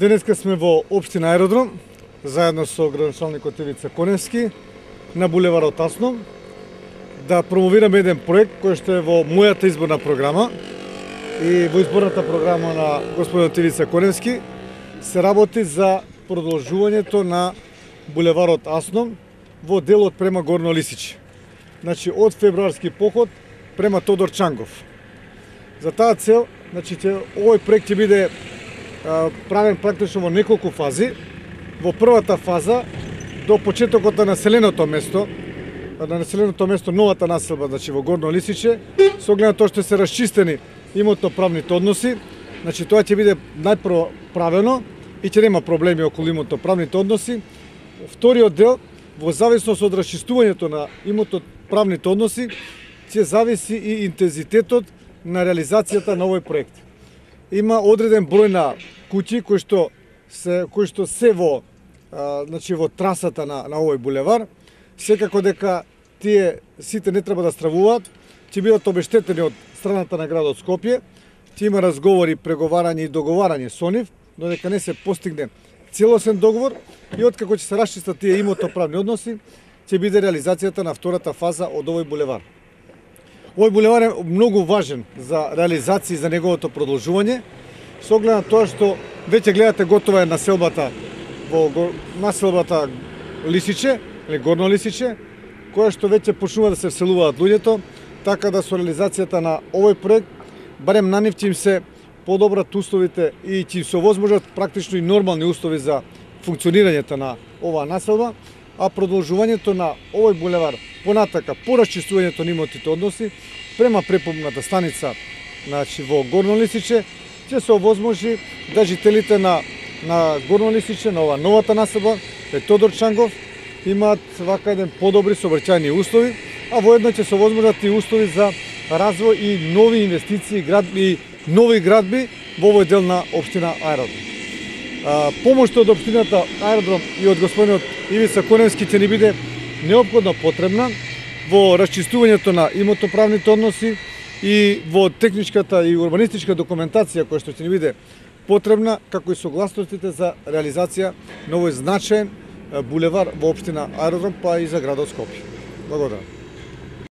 Денеска сме во општина Аеродром, заедно со градоначалникот Ивица Коневски, на булеварот Аснов, да промовираме еден проект кој што е во мојата изборна програма и во изборната програма на господинот Ивица Коневски се работи за продолжувањето на булеварот Аснов во делот према Горно Лисиче. Значи, од февруарски поход према Тодор Чангов. За таа цел, значи, овој проект ќе биде правен практично во неколку фази. Во првата фаза, до почетокот на населеното место, новата населба, значи во Горно Лисиче, со оглед на тоа што се расчистени имотно-правните односи, значи тоа ќе биде најпрво правено и ќе нема проблеми околу имотно-правните односи. Вториот дел, во зависност од расчистувањето на имотно-правните односи, ќе зависи и интензитетот на реализацијата на овој проект. Има одреден број на куќи кои што се во во трасата на овој булевар. Секако дека тие сите не треба да стравуваат, ќе бидат обештетени од страната на градот Скопје. Ќе има разговори, преговарање и договарање со нив, но дека не се постигне целосен договор и откако ќе се расчистат тие имотно-правни односи, ќе биде реализацијата на втората фаза од овој булевар. Овој булевар е многу важен за реализација и за неговото продолжување, со оглед на тоа што веќе гледате готова е населбата Лисиче, или Горно Лисиче, која што веќе почнува да се вселуваат луѓето, така да со реализацијата на овој проект, барем на нив ќе им се подобрат условите и ќе им се овозможат практично и нормални услови за функционирањето на оваа населба, а продолжувањето на овој булевар понатака по расчистувањето на имотните односи према препомната станица, значи во Горно Лисиче, ќе се овозможи да жителите на Горно Лисиче, на оваа новата населба, Тодор Чангов, имаат вака еден подобри сообраќајни услови, а воедно ќе се овозможат и услови за развој и нови инвестиции и нови градби во овој дел на општина Аеродром. Помошта од општината Аеродром и од господинот Ивица Коневски ќе ни биде неопходно потребна во расчистувањето на имотно-правните односи и во техничката и урбанистичка документација која што ќе ни биде потребна, како и согласностите за реализација на овој значаен булевар во општина Аеродром, па и за градот Скопје. Благодарам.